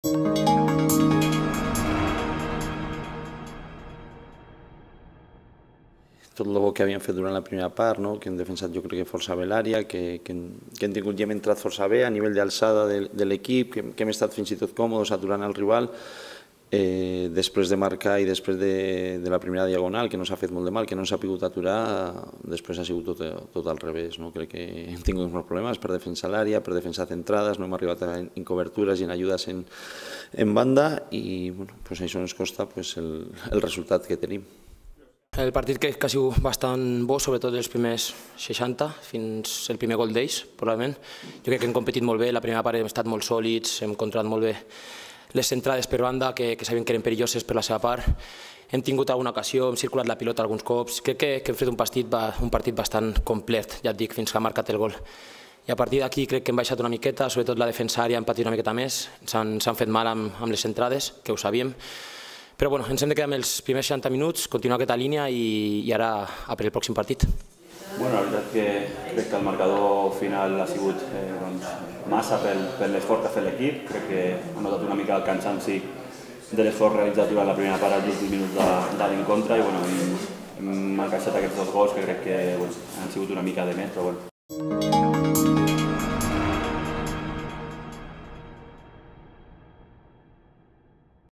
Tot el que havíem fet durant la primera part, que hem defensat jo crec que força bé l'àrea, que hem tingut ja hem entrat força bé a nivell d'alçada de l'equip, que hem estat fins i tot còmodes aturant el rival. Després de marcar i després de la primera diagonal, que no s'ha fet molt de mal, que no s'ha pogut aturar, després ha sigut tot al revés. Crec que hem tingut molts problemes per defensar l'àrea, per defensar centrades, no hem arribat en cobertures i en ajudes en banda i això ens costa el resultat que tenim. El partit crec que ha sigut bastant bo, sobretot els primers 60, fins el primer gol d'ells, probablement. Jo crec que hem competit molt bé, la primera part hem estat molt sòlids, hem controlat molt bé les centrades per banda, que sabien que eren perilloses per la seva part. Hem tingut alguna ocasió, hem circulat la pilota alguns cops. Crec que hem fet un partit bastant complet, ja et dic, fins que ha marcat el gol. I a partir d'aquí crec que hem baixat una miqueta, sobretot la defensa àrea hem patit una miqueta més, s'han fet mal amb les centrades, que ho sabíem. Però ens hem de quedar amb els primers 60 minuts, continuar aquesta línia i ara a per el pròxim partit. La veritat que crec que el marcador final ha sigut massa per l'esforç que ha fet l'equip. Crec que ha notat una mica el cansanci de l'esforç realitzat durant la primera part als últims minuts de l'encontre i hem encaixat aquests dos gols que crec que han sigut una mica de més, però